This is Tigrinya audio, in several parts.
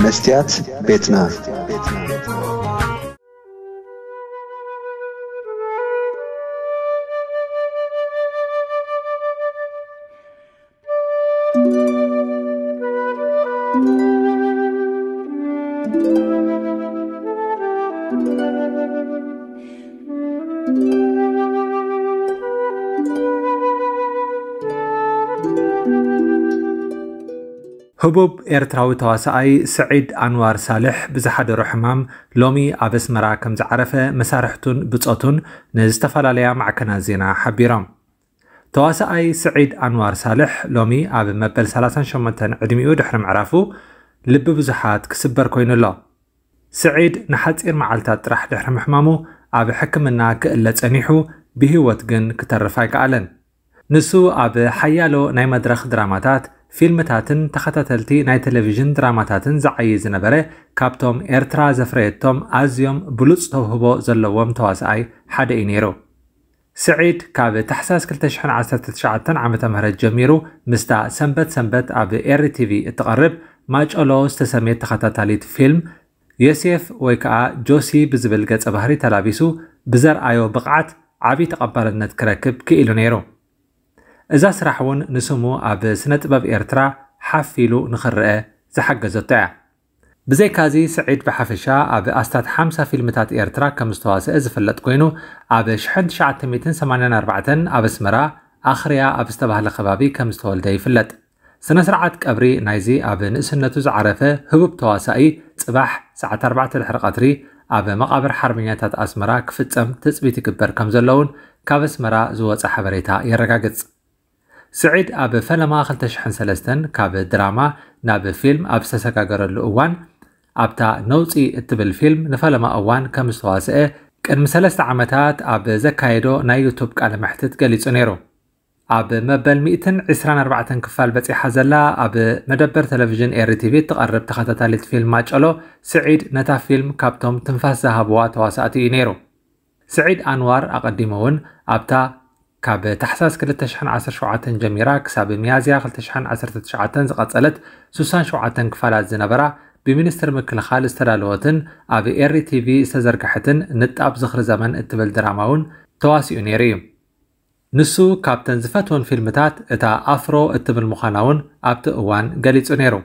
መስትያት ቤትና። ህቡብ ኤርትራዊ ተዋሳኣይ ስዒድ ኣንዋር ሳልሕ ብዝሓደሮ ሕማም ሎሚ ኣብ ኣስመራ ከም ዝዓረፈ መሳርሕቱን ብጾቱን ንዝተፈላለያ ማዕከናት ዜና ሓቢሮም። ተዋሳኣይ ስዒድ ኣንዋር ሳልሕ ሎሚ ኣብ መበል ሰላሳን ሸሞንተን ዕድሚኡ ድሕሪ ምዕራፉ ልቢ ብዙሓት ክስበር ኮይኑ ኣሎ። ስዒድ ንሓጺር መዓልታት ጥራሕ ድሕሪ ምሕማሙ ኣብ ሕክምና ክእለ ጸኒሑ ብህይወት ግን ክተርፍ ኣይከኣለን። ንሱ ኣብ ሓያሎ ናይ መድረኽ ድራማታት፣ ፊልምታትን ተኸታተልቲ ናይ ቴሌቪዥን ድራማታትን ዝዓዪ ዝነበረ ካብቶም ኤርትራ ዘፍረየቶም ኣዝዮም ብሉጽ ተውህቦ ዘለዎም ተዋሳኣይ ሓደ እዩ ነይሩ። ስዒድ ካብ ታሕሳስ ክልተ ሽሕን ዓሰርተ ትሽዓተን ዓመተ ምህረት ጀሚሩ ምስታ ሰንበት ሰንበት ኣብ ኤሪ ቲቪ እትቐርብ ማጨሎ ዝተሰምየት ተኸታታሊት ፊልም ዮሴፍ ወይ ከኣ ጆሲ ብዝብል ገጸ ባህሪ ተላቢሱ ብዘርኣዮ ብቕዓት ዓቢ ተቐባልነት ክረክብ ክኢሉ ነይሩ። እዛ ስራሕ እውን ንስሙ ኣብ ስነ ጥበብ ኤርትራ ሓፍ ኢሉ ንኽረአ ዝሓገዘቶ እያ። ብዘይካዚ ስዒድ ብሓፈሻ ኣብ ኣስታት ሓምሳ ፊልምታት ኤርትራ ከም ዝተዋስአ ዝፍለጥ ኮይኑ ኣብ ሽሕን ትሽዓተ ሚእትን ሰማንያን ኣርባዕተን ኣብ ኣስመራ ኣኽርያ ኣብ ዝተባህለ ከባቢ ከም ዝተወልደ ይፍለጥ። ስነ ስርዓት ቀብሪ ናይዚ ኣብ ንእስነቱ ዝዓረፈ ህቡብ ተዋሳኢ ጽባሕ ሰዓት ኣርባዕተ ድሕሪ ቀትሪ ኣብ መቓብር ሓርበኛታት ኣስመራ ክፍጸም ትጽቢት ይግበር ከም ዘሎ እውን ካብ ኣስመራ ዝወጸ ሓበሬታ የረጋግጽ። ስዒድ ኣብ ፈለማ ክልተ ሽሕን ሰለስተን ካብ ድራማ ናብ ፊልም ኣብ ዝተሰጋገረሉ እዋን ኣብታ ነውጺ እትብል ፊልም ንፈለማ እዋን ከም ዝተዋስአ ቅድሚ ሰለስተ ዓመታት ኣብ ዘካየዶ ናይ ዩቱብ ቃለ መሕትት ገሊጹ ነይሩ። ኣብ መበል ሚእትን ዕስራን ኣርባዕተን ክፋል በጺሓ ዘላ ኣብ መደበር ቴሌቪዥን ኤሪ ቲቪ እትቐርብ ተኸታታሊት ፊልም ማጨሎ ስዒድ ነታ ፊልም ካብቶም ትንፋስ ዝሃብዋ ተዋሳእቲ እዩ ነይሩ። ስዒድ ኣንዋር ኣቐዲሙ እውን ኣብታ ካብ ታሕሳስ ክልተ ሽሕን ዓሰርተ ሸውዓተን ጀሚራ ክሳብ ሚያዝያ ክልተ ሽሕን ዓሰርተ ትሽዓተን ዝቐጸለት ስሳን ሸውዓተን ክፋላት ዝነበራ ብሚኒስትሪ ምክልኻል ዝተዳለወትን ኣብ ኤሪ ቲቪ ዝተዘርግሐትን ንጣብ ዝኽሪ ዘመን እትብል ድራማ እውን ተዋሲኡ ነይሩ እዩ። ንሱ ካብተን ዝፈትወን ፊልምታት እታ ኣፍሮ እትብል ምዃና እውን ኣብቲ እዋን ገሊጹ ነይሩ።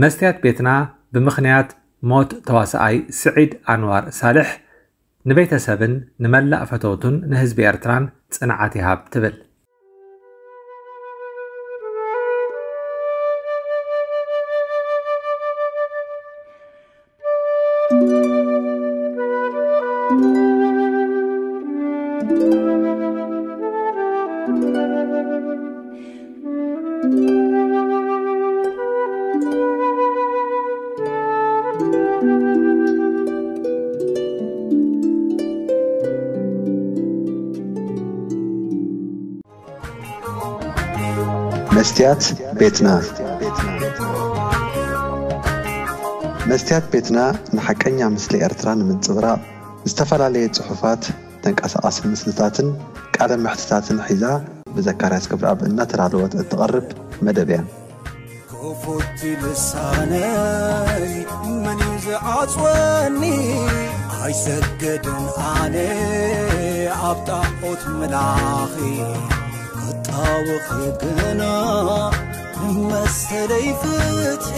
መስትያት ቤትና ብምኽንያት ሞት ተዋሳኣይ ስዒድ ኣንዋር ሳልሕ ንቤተሰብን ንመላእ ፈተውቱን ንህዝቢ ኤርትራን ጽንዓት ይሃብ ትብል። መስትያት ቤትና። መስትያት ቤትና ንሓቀኛ ምስሊ ኤርትራ ንምንጽብራቕ ዝተፈላለየ ጽሑፋት፣ ተንቀሳቓሲ ምስልታትን ቃለ መሕትታትን ሒዛ ብዘካርያስ ገብረኣብ እናተዳለወት እትቐርብ መደብ እያ። ክፉት ልሳነይ መን እዩ ዝዓጽወኒ? ኣይሰግድን ኣነ ኣብ ጣዖት ምላኺ። ክጣወኺ ግና መሰለይ ፍትሒ።